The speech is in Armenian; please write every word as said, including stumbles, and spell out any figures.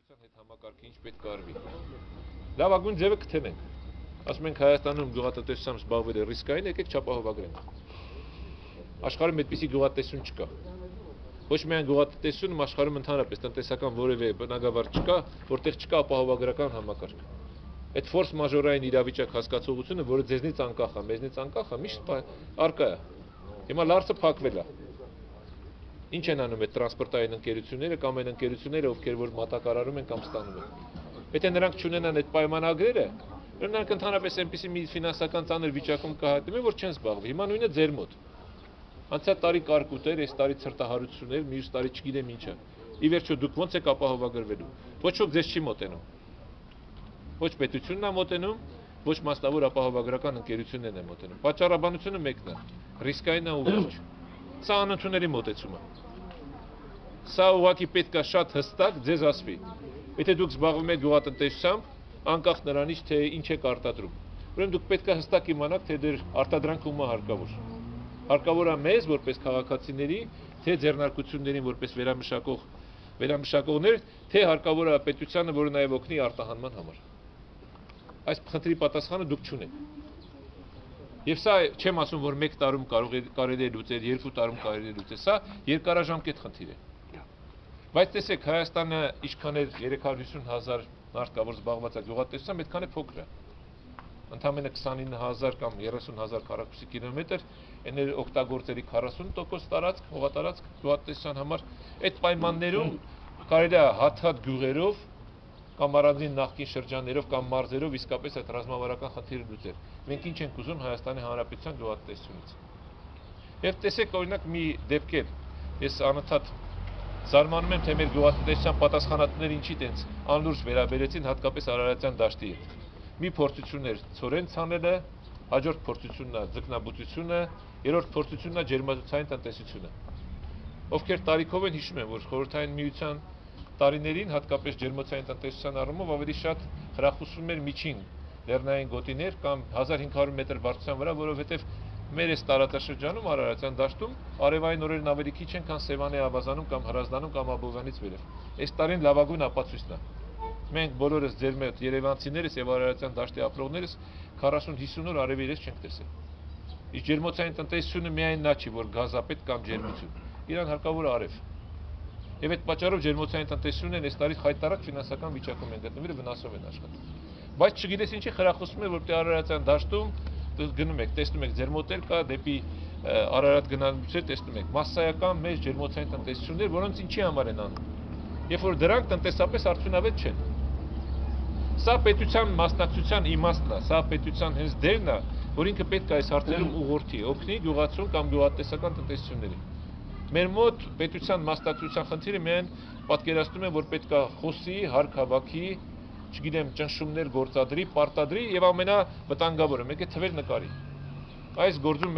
Տնտեսության հետ համակարգը ինչ պետք է արվի։ Լավագույն ձևը կթենենք։ Ասում ենք Հայաստանում գյուղատնտեսությամբ զբաղվել է ռիսկային, եկեք չապահովագրենք։ Աշխարհում այդպիսի գյուղատնտեսություն չկա։ Ոչ միայն գյուղատնտեսությունում, աշխարհում ընդհանրապես տնտեսական որևէ բնագավառ չկա, որտեղ չկա ապահովագրական համակարգ։ Այդ ֆորս մաժորային իրավիճակ հասկացողությունը, որը ձեզնից անկախ է, մեզնից անկախ է, միշտ արկա է։ Հիմա լարցը փակվել է։ Ինչ են անում այդ տրանսպորտային ընկերությունները կամ այն ընկերությունները, ովքեր որ մատակարարում են կամ ստանում են։ Եթե նրանք չունենան այդ պայմանագրերը, նրանք ընդհանրապես այնպիսի մի ֆինանսական ծանր վիճակում կհայտնվեն, որ չեն զբաղվի։ Հիմա նույնը ձեր մոտ։ Անցյալ տարի կարկուտեր, այս տարի ցրտահարություններ, մյուս տարի չգիտեմ ինչը։ Ի վերջո դուք ո՞նց եք ապահովագրվելու։ Ոչ ոք ձեզ չի մոտենում։ Ոչ պետությունն է մոտենում, ոչ մասնավոր ապահովագրական ընկերություններն են մոտենում։ Պատճառաբանությունը մեկն է, ռիսկային է ու վերջ։ Սա անընդունելի մոտեցում է։ Սա ուղղակի պետք է շատ հստակ ձեզ ասվի։ Եթե դուք զբաղվում եք գյուղատնտեսությամբ, անկախ նրանից, թե ինչ եք արտադրում, ուրեմն դուք պետք է հստակ իմանաք, թե դեր արտադրանքը ում է հարկավոր։ Հարկավոր է մեզ, որպես քաղաքացիների, թե ձեռնարկություններին, որպես վերամշակող, վերամշակողներ, թե հարկավոր է պետությանը, որը նաև օգնի արտահանման համար։ Այս խնդրի պատասխանը դուք չունեք։ Եվ սա չեմ ասում, որ մեկ տարում կարելի է լուծել, երկու տարում կարելի է լուծել, սա երկարաժամկետ խնդիր է։ Բայց տեսեք, Հայաստանը ինչքան է երեք հարյուր հիսուն հազար մարդ կա, որ զբաղված է գյուղատնտեսությամբ, այդքան է փոքր է։ Ընդամենը քսանինը հազար կամ երեսուն հազար քառակուսի կիլոմետր, այն էլ օգտագործելի քառասուն տոկոս տարածք, հողատարածք գյուղատնտեսության համար, այդ պայմաններում կարելի է հատ-հատ գյուղերով կամ առանձին նախկին շրջաններով կամ մարզերով իսկապես այդ ռազմավարական խնդիրը լուծել։ Մենք ինչ ենք ուզում Հայաստանի Հանրապետության գյուղատնտեսությունից։ Եվ տեսեք օրինակ մի դեպքեր, ես անընդհատ զարմանում եմ, թե մեր գյուղատնտեսության պատասխանատուները ինչի տենց անլուրջ վերաբերեցին հատկապես Արարատյան դաշտի հետ։ Մի փորձություն էր ցորեն ցանելը, հաջորդ փորձությունն է ձկնաբուծությունը, երրորդ փորձությունն է ջերմածային տնտեսությունը։ Ովքեր տարիքով են հիշում են, որ խորհրդային միության տարիներին հատկապես ջերմոցային տնտեսության առումով ավելի շատ խրախուսվում էր միջին լեռնային գոտիներ կամ հազար հինգ հարյուր մետր բարձրության վրա, որովհետև մեր այս տարածաշրջանում Արարատյան դաշտում արևային օրերն ավելի քիչ են, քան Սևանի ավազանում կամ Հրազդանում կամ Աբովյանից վերև։ Այս տարին լավագույն ապացույցն է։ Մենք բոլորս ձեր մոտ երևանցիներս եւ Արարատյան դաշտի ապրողներս քառասուն հիսուն օր արևի իրես չենք տեսել։ Իսկ ջերմոցային տնտեսությունը միայն նա չի, որ գազապետ կամ ջերմություն։ Իրան հարկավոր է արև։ Եվ այդ պատճառով ջերմոցային տնտեսությունն այս տարի խայտարակ ֆինանսական վիճակում են գտնվել եւ վնասով են աշխատում։ Բայց չգիտես ինչի խրախուսում է, որտեղ Արարատյան դաշտում գնում եք, տեսնում եք ձեր մոտ էլ կա դեպի Արարատ գնալուց տեսնում եք մասսայական մեծ ջերմոցային տնտեսություններ, որոնց ինչի համար են անում։ Երբ որ դրանք տնտեսապես արդյունավետ չեն։ Սա պետության մասնակցության իմաստն է, սա պետության հենց դերն է, որ ինքը պետք է այս հարցերում ուղղորդի, օգնի գյուղացուն կամ գյուղատնտեսական տնտեսություններին։ Մեր մոտ պետության մասնակցության խնդիրը միայն պատկերացնում է, որ պետք է խոսի, հարկ հավաքի, չգիտեմ, ճնշումներ գործադրի, պարտադրի եւ ամենավտանգավորը, մեկ է թվեր նկարի։ Այս գործում